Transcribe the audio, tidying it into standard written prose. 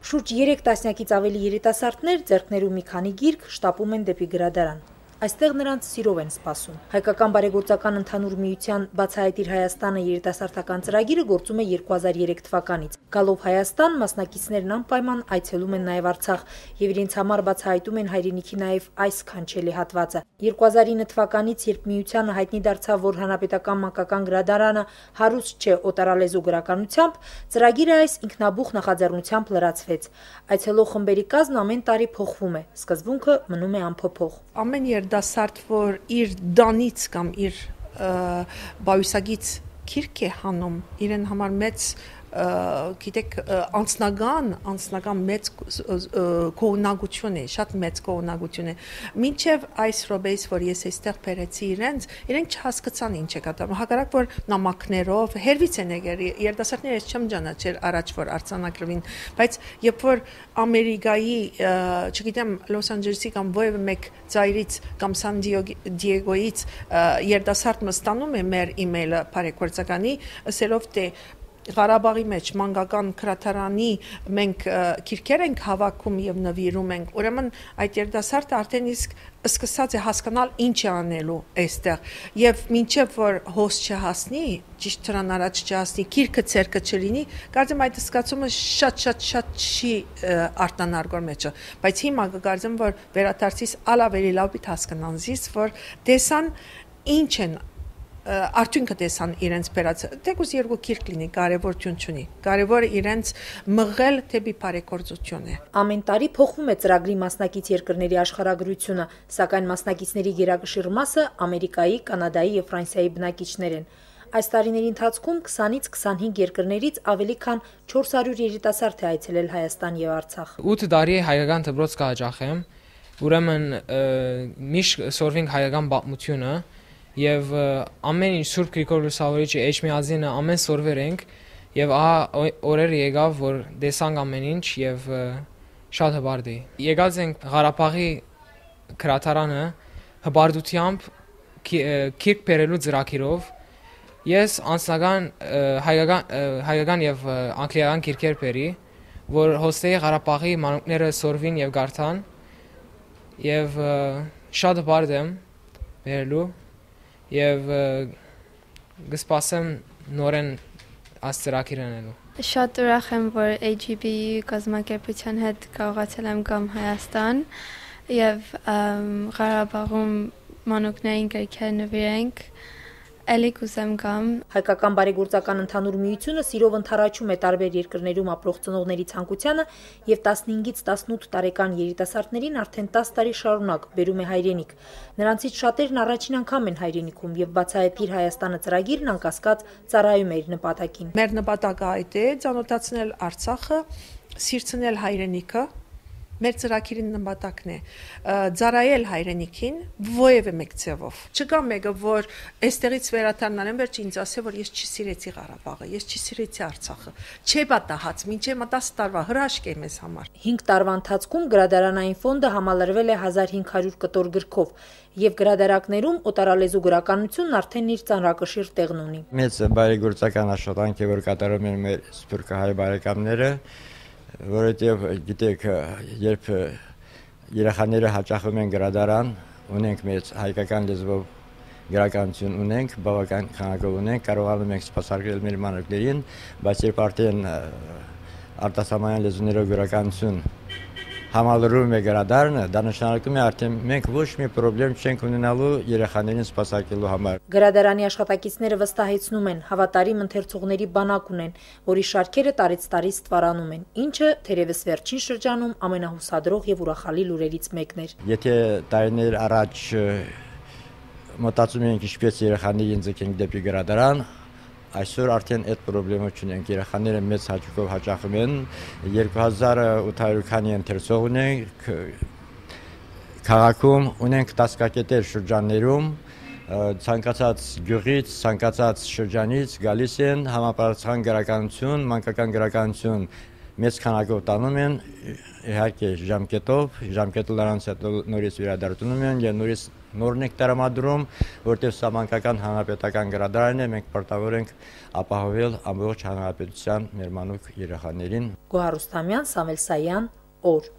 Շուրջ 3 տասնյակից ավելի երիտասարդներ ձեռքներում մի քանի գիրք շտապում են դեպի գրադարան։ Այստեղ նրանց սիրով են սպասում։ Հայկական բարեգործական ընդհանուր միության «Բացահայտիր Հայաստանը» երիտասարդական ծրագիրը գործում է 2003 թվականից։ Գալով Հայաստան, մասնակիցներն անպայման այցելում են նաև Արցախ եւ իրենց համար բացահայտում են հայրենիքի նաև այս քանչելի հատվածը։ 2009 թվականից, երբ միությանը հայտնի դարձավ, որ Հանրապետական մանկական գրադարանը հարուստ չէ օտարալեզու գրականությամբ, ծրագիրը այս ինքնաբուխ նախաձեռնությամբ լրացվեց։ Այցելող խմբերի կազմն ամեն տարի փոխվում է, սկզբունքը մնում է անփոփոխ։ Ամեն երդասարդ, որ իր դանից կամ իր բայուսագից քիրք է հանում, իրեն համար մեծ գիտեք անձնական մեծ գոհունակություն է, շատ մեծ գոհունակություն է։ Մինչև այս րոպեից, որ ես այստեղ բերեցի իրենք չհասկացան ինչ է կատարվում, հակառակ որ նամակներով հերվից են եկել երդասարդները, ես չեմ ճանաչել առաջ որ արձանագրվին, բայց երբ որ Ամերիկայի, չգիտեմ, Լոս Անջելեսի կամ որևէ մեկ ծայրից կամ Սան Դիեգոյից երդասարդ մստանում է մեր email-ը բարեգործականի, ասելով թե Ղարաբաղի մեջ մանկական գրադարանի մենք քիրքեր ենք հավաքում եւ նվիրում ենք, ուրեմն այդ երդասարդը արդեն իսկ սկսած է հասկանալ ինչ է անելու այստեղ եւ մինչեւ որ հոս չհասնի, ճիշտ դրան առաջ չհասնի, քիրքը ցերկը չլինի, կարծեմ այդ սկացումը շատ չի արտանարգոր մեջը, բայց հիմա կգարձեմ որ վերադարձիս ալավելի լավ պիտի հասկանան զիս որ տեսան ինչ են արդյունքը տեսան իրենց բերած թեկուզ երկու քիրք լինի կարևորություն չունի կարևորը իրենց մղել դեպի բարեգործություն է ամեն տարի փոխվում է ծրագրի մասնակից երկրների աշխարհագրությունը սակայն մասնակիցների գերակշիռ մասը Ամերիկայի, Կանադայի եւ Ֆրանսիայի բնակիչներ են այս տարիների ընթացքում 20-ից 25 երկրներից ավելի քան 400 երիտասարդ է այցելել Հայաստան եւ Արցախ 8 տարի հայկական դպրոց կհաճախեմ ուրեմն միշտ սորվինք հայկական պատմությունը Եվ ամեն ինչ Սուրբ Գրիգոր Լուսավորիչի Էջմիածինը ամեն սորվեր ենք եւ ահա օրեր եկավ որ տեսանք ամեն ինչ եւ շատ հբարդ է եկած ենք Ղարաբաղի գրադարանը հբարդությամբ քիրք բերելու ծրագիրով ես անձնական հայկական եւ անգլիական քիրքեր բերի որ հոստեի Ղարաբաղի մանուկները սորվին եւ գարթան եւ շատ հբարդ եմ բերելու Եվ գսպասեմ նորեն աստրակիր անելու Շատ ուրախ եմ, որ AGB կազմակերպության հետ կարողացել եմ գամ Հայաստան եւ Ղարաբաղում մանուկներին գրքեր նվիրենք Էլի կուզեմ գամ Հայկական բարեգործական ընդհանուր միությունը սիրով ընդառաջում է տարբեր երկրներում ապրող ծնողների ցանկությանը եւ 15-ից 18 տարեկան երիտասարդներին արդեն 10 տարի շարունակ բերում է հայրենիք Նրանցից շատերն առաջին անգամ են հայրենիքում եւ բացահայտիր Հայաստանը ծրագիրն անկասկած ծառայում է իր նպատակին Մեր նպատակը այդ է ծանոթացնել Արցախը սիրցնել հայրենիքը Մեր ծրագիրի նպատակն է ծառայել հայրենիքին ովևէ մեկ ձևով։ Չկա մեկը, որ այստեղից վերադառնալ եմ վերջ ինձ ասե, որ ես չսիրեցի Ղարաբաղը, ես չսիրեցի Արցախը։ Չէ պատահած, մինչև 10 տարվա հրաշք է մեզ համար։ 5 տարվա ընթացքում գրադարանային ֆոնդը համալրվել է 1500 կտոր գրքով եւ գրադարակներում օտարալեզու գրականությունն արդեն իր ծանրակշիռ տեղն ունի։ Մեծ բարեգործական աշխատանք է, որ կատարում են մեր սփյուռքահայ բարեկամները Որովհետև գիտեք, երբ երեխաները հաճախում են գրադարան, ունենք մեծ հայկական լեզվով գրականություն ունենք, բավական քանակով ունենք, կարողանում ենք սպասարկել մեր մանուկներին, բայց երբ արդեն արտասահմանյան լեզուներով գրականություն համալրում է գրադարանը, դա նշանակում է արդեն մենք ոչ մի խնդրեմ չենք ունենալու երեխաներին սպասարկելու համար։ Գրադարանի աշխատակիցները վստահեցնում են, հավատարիմ ընթերցողների բանակ ունեն, որի շարքերը տարեց տարի ստվարանում են, ինչը թերևս վերջին շրջանում ամենահուսադրող եւ ուրախալի լուրերից մեկն էր։ Եթե տարիներ առաջ մտածում էինք ինչպես երեխաներին ձգենք դեպի գրադարան, Այսօր արդեն այդ խնդրումը չունենք, երեխաները մեծ հաճույքով հաճախում են, 2800 քանի ընթերցող ունենք, քաղաքում ունենք տասկակետեր շրջաններում, ցանկացած գյուղից, ցանկացած շրջանից գալիս են համապատասխան գրականություն, մանկական գրականություն մեծ քանակով տանում են, իհարկե ժամկետով նրանց հետ նորից վերադարձնում են եւ նորից նորն ենք տրամադրում, որտեղ սահմանկական հանրապետական գրադարանն է, մենք պարտավոր ենք ապահովել ամբողջ հանրապետության մեր մանուկ երեխաներին։ Գոհար Ռուստամյան, Սամվել Սայան, օր։